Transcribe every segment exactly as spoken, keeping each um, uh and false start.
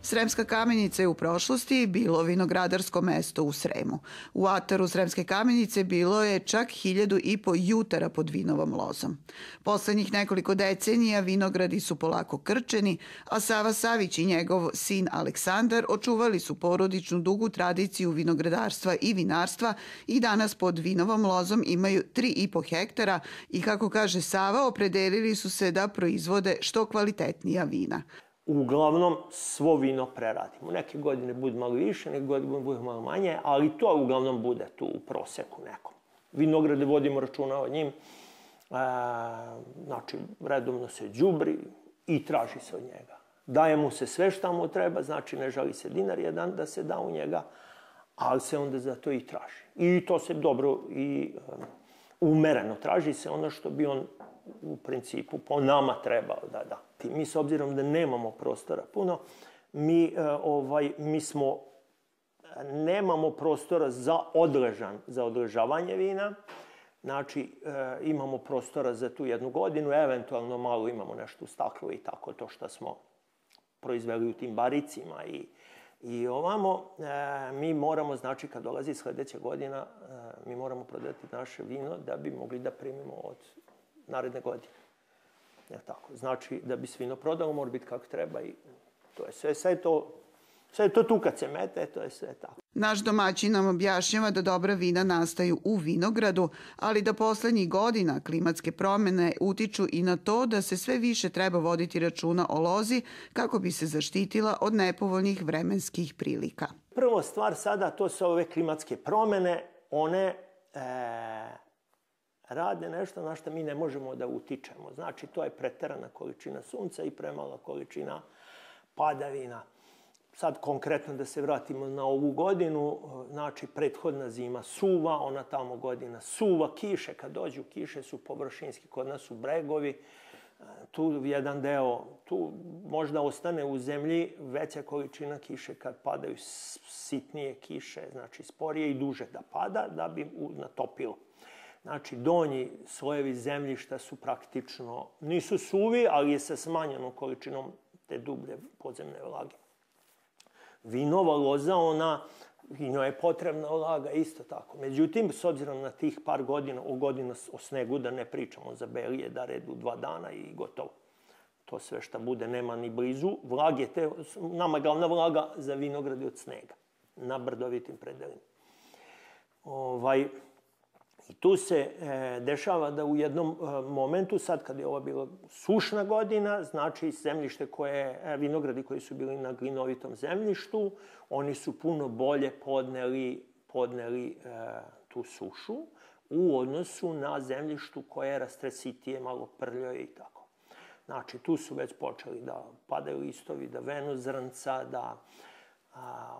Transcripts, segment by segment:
Sremska Kamenica je u prošlosti bilo vinogradarsko mesto u Sremu. U ataru Sremske Kamenice bilo je čak hiljadu i po jutara pod vinovom lozom. Poslednjih nekoliko decenija vinogradi su polako krčeni, a Sava Savić i njegov sin Aleksandar očuvali su porodičnu dugu tradiciju vinogradarstva i vinarstva i danas pod vinovom lozom imaju tri i po hektara i, kako kaže Sava, opredelili su se da proizvode što kvalitetnija vina. Uglavnom svo vino preradimo. Neke godine bude malo više, neke godine bude malo manje, ali to uglavnom bude tu u proseku nekom. Vinograde vodimo računa o njim, e, znači redovno se đubri i traži se od njega. Daje mu se sve šta mu treba, znači ne žali se dinar jedan da se da u njega, ali se onda za to i traži. I to se dobro i um, umereno traži se ono što bi on u principu po nama trebao da da. Mi s obzirom da nemamo prostora puno, mi, ovaj, mi smo, nemamo prostora za odležan, za odležavanje vina. Znači, imamo prostora za tu jednu godinu, eventualno malo imamo nešto u staklu i tako to što smo proizveli u tim baricima i, i ovamo. Mi moramo, znači, kad dolazi sledeća godina, mi moramo prodati naše vino da bi mogli da primimo od naredne godine. Ja, tako. Znači, da bi se vino prodalo, mora biti kako treba i to je sve. Sve je to, sve je to tu kad se mete, to je sve tako. Naš domaćin nam objašnjava da dobra vina nastaju u vinogradu, ali da poslednjih godina klimatske promene utiču i na to da se sve više treba voditi računa o lozi kako bi se zaštitila od nepovoljnih vremenskih prilika. Prvo stvar sada, to su ove klimatske promene, one e, rade nešto na što mi ne možemo da utičemo. Znači, to je preterana količina sunca i premala količina padavina. Sad konkretno da se vratimo na ovu godinu, znači prethodna zima suva, ona tamo godina suva, kiše, kad dođu kiše su površinski, kod nas su bregovi, tu jedan deo, tu možda ostane u zemlji veća količina kiše kad padaju sitnije kiše, znači sporije i duže da pada, da bi natopilo. Znači, donji slojevi zemljišta su praktično, nisu suvi, ali je sa smanjenom količinom te dublje podzemne vlage. Vinova loza, ona, i njoj je potrebna vlaga isto tako. Međutim, s obzirom na tih par godina, o godina o snegu, da ne pričamo za belije, da redu dva dana i gotovo. To sve što bude nema ni blizu. Vlage te, nama je glavna vlaga za vinogradi od snega, na brdovitim predelima. Ovaj... I tu se e, dešava da u jednom e, momentu, sad kad je ovo bila sušna godina, znači zemljište koje, e, vinogradi koji su bili na glinovitom zemljištu, oni su puno bolje podneli, podneli e, tu sušu u odnosu na zemljištu koje je rastresitije, malo prljoje i tako. Znači, tu su već počeli da padaju listovi, da venu zrnca, da, a,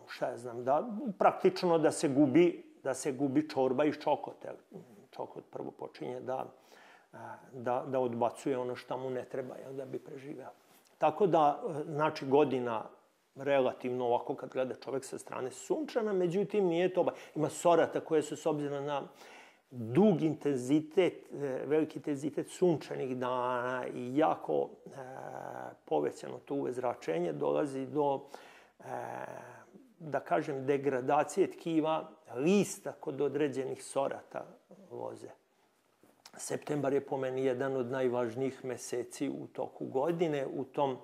šta ja znam, da praktično da se gubi da se gubi čorba iz čokota. Čokot prvo počinje da, da, da odbacuje ono što mu ne treba, jel, da bi preživeo. Tako da, znači, godina relativno ovako kad gleda čovek sa strane sunčana, međutim nije to... Ima sorata koje su s obzirom na dug intenzitet, veliki intenzitet sunčanih dana i jako e, povećano to U V zračenje dolazi do... E, da kažem, degradacije tkiva lista kod određenih sorata loze. Septembar je po meni jedan od najvažnijih meseci u toku godine. U tom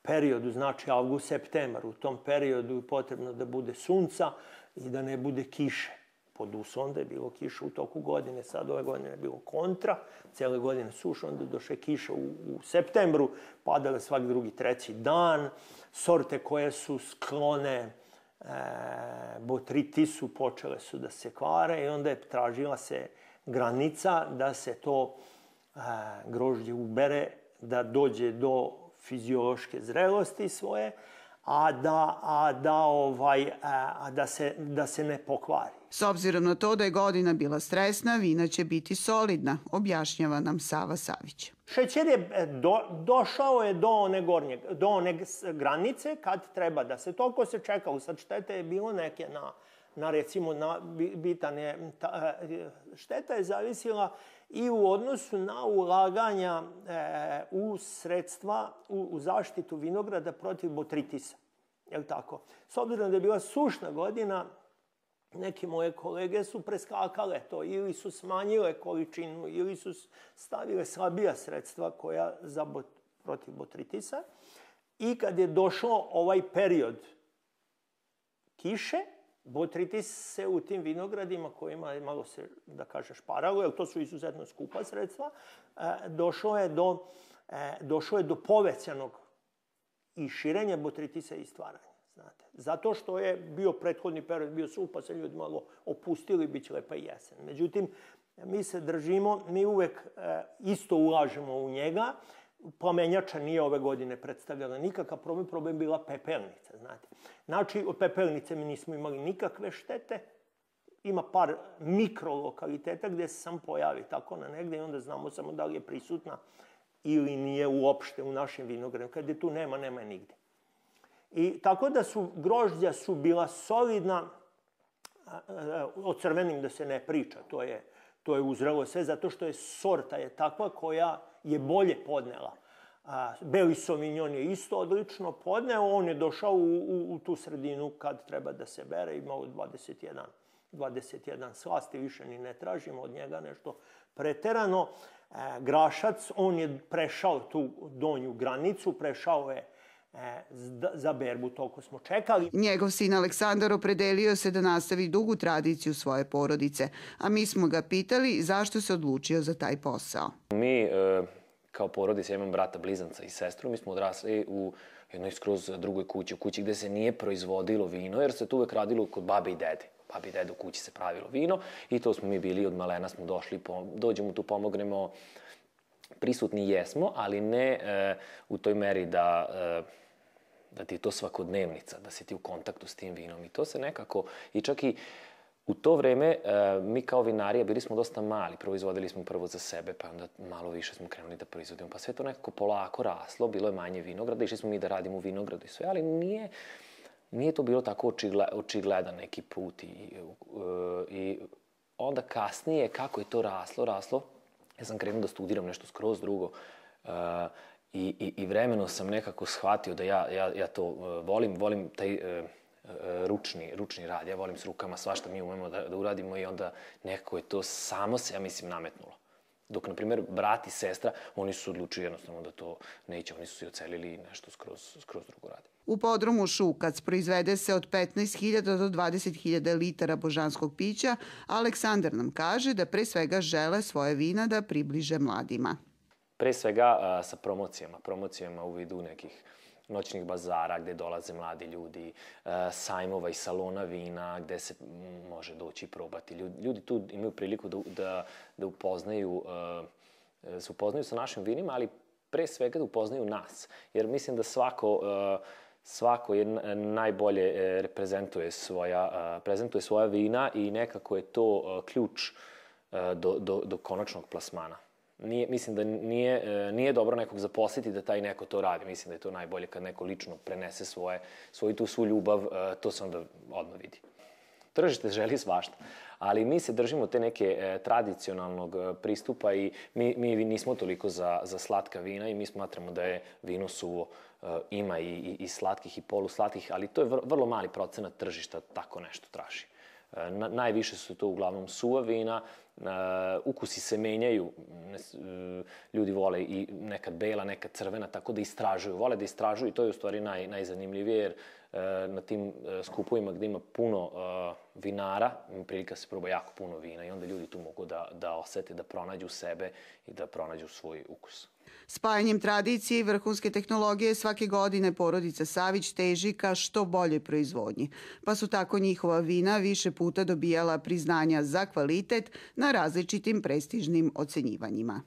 periodu, znači avgust, septembar, u tom periodu je potrebno da bude sunca i da ne bude kiše. Pod uslovom da je bilo kiše u toku godine, sad ove godine je bilo kontra, cijele godine suša, onda došle kiše u, u septembru, padale svaki drugi, treći dan, sorte koje su sklone E, botritisu počele su da se kvare i onda je tražila se granica da se to e, grožđe ubere, da dođe do fiziološke zrelosti svoje, a da, a da, ovaj, a da, se, da se ne pokvari. S obzirom na to da je godina bila stresna, vina će biti solidna, objašnjava nam Sava Savić. Šećer je do, došao je do one, gornje, do one granice kad treba da se, toliko se čekalo. Sad štete je bilo neke na, na recimo, na, bitan je, ta, šteta je zavisila i u odnosu na ulaganja e, u sredstva, u, u zaštitu vinograda protiv botritisa. Je li tako? S obzirom da je bila sušna godina, neke moje kolege su preskakale to, ili su smanjile količinu, ili su stavile slabija sredstva koja za bot, protiv botritisa. I kad je došao ovaj period kiše, botritis se u tim vinogradima kojima je malo se, da kažem, šparalo, jer to su izuzetno skupa sredstva, došlo je do, došlo je do povećanog i širenja botritisa i stvaranja. Znate. Zato što je bio prethodni period, bio suh, pa se ljudi malo opustili, bit će lepa jesen. Međutim, mi se držimo, mi uvek isto ulažemo u njega. Plamenjača nije ove godine predstavljala nikakav problem, problem bila pepelnica, znate. Znači, od pepelnice mi nismo imali nikakve štete. Ima par mikrolokaliteta gdje se sam pojavi tako na negdje i onda znamo samo da li je prisutna ili nije uopšte u našim vinogradima. Kad je tu nema, nema je nigdje. I tako da su, grožđa su bila solidna, o crvenim da se ne priča, to je, to je uzrelo sve, zato što je sorta je takva koja je bolje podnela. A, Beli Sauvignon je isto odlično podneo, on je došao u, u, u tu sredinu kad treba da se bere, imao dvadeset jedan, dvadeset jedan slasti, više ni ne tražimo od njega nešto preterano. E, Grašac, on je prešao tu donju granicu, prešao je za berbu, toliko smo čekali. Njegov sin Aleksandar opredelio se da nastavi dugu tradiciju svoje porodice, a mi smo ga pitali zašto se odlučio za taj posao. Mi, kao porodica, ja imam brata blizanca i sestru, mi smo odrasli u jednoj skroz drugoj kući, u kući gde se nije proizvodilo vino, jer se tu uvek radilo kod babe i dede. Babi i dede u kući se pravilo vino i to smo mi bili, od malena smo došli, dođemo tu, pomognemo, prisutni jesmo, ali ne e, u toj meri da... E, da ti je to svakodnevnica, da si ti u kontaktu s tim vinom. I to se nekako, i čak i u to vreme, mi kao vinarija bili smo dosta mali. Proizvodili smo prvo za sebe, pa onda malo više smo krenuli da proizvodimo. Pa sve to nekako polako raslo, bilo je manje vinograda, išli smo mi da radimo u vinogradu i sve, ali nije, nije to bilo tako očigledan neki put. I, i onda kasnije, kako je to raslo, raslo, ja sam krenuo da studiram nešto skroz drugo, I, i, i vremenom sam nekako shvatio da ja, ja, ja to uh, volim, volim taj uh, uh, ručni, ručni rad, ja volim s rukama svašta mi umemo da, da uradimo i onda nekako je to samo se, ja mislim, nametnulo. Dok, na primjer, brat i sestra, oni su odlučili jednostavno da to neće, oni su se ocelili i nešto skroz, skroz drugo rade. U podrumu Šukac proizvede se od petnaest hiljada do dvadeset hiljada litara božanskog pića, a Aleksandar nam kaže da pre svega žele svoje vina da približe mladima. Pre svega a, sa promocijama, promocijama u vidu nekih noćnih bazara gde dolaze mladi ljudi, a, sajmova i salona vina gde se m, može doći i probati. Ljudi, ljudi tu imaju priliku da, da, da upoznaju, a, se upoznaju sa našim vinima, ali pre svega da upoznaju nas. Jer mislim da svako, a, svako je najbolje reprezentuje svoja, a, prezentuje svoja vina i nekako je to a, ključ a, do, do, do konačnog plasmana. Nije, mislim da nije, nije dobro nekog zaposliti da taj neko to radi. Mislim da je to najbolje kad neko lično prenese svoje, svoju tu svu ljubav, to se onda odmah vidi. Tržište želi svašta, ali mi se držimo te neke e, tradicionalnog pristupa i mi, mi nismo toliko za, za slatka vina i mi smatramo da je vino suvo. E, ima i, i, i slatkih i poluslatkih, ali to je vr, vrlo mali procenat tržišta tako nešto traži. E, na, najviše su to uglavnom suva vina, Uh, ukusi se menjaju, uh, ljudi vole i nekad bela, nekad crvena, tako da istražuju, vole da istražuju i to je u stvari naj, najzanimljivije jer uh, na tim uh, skupovima gde ima puno uh, vinara, ima prilika se proba jako puno vina i onda ljudi tu mogu da, da osete, da pronađu sebe i da pronađu svoj ukus. Spajanjem tradicije i vrhunske tehnologije svake godine porodica Savić teži ka što boljoj proizvodnji, pa su tako njihova vina više puta dobijala priznanja za kvalitet na različitim prestižnim ocenjivanjima.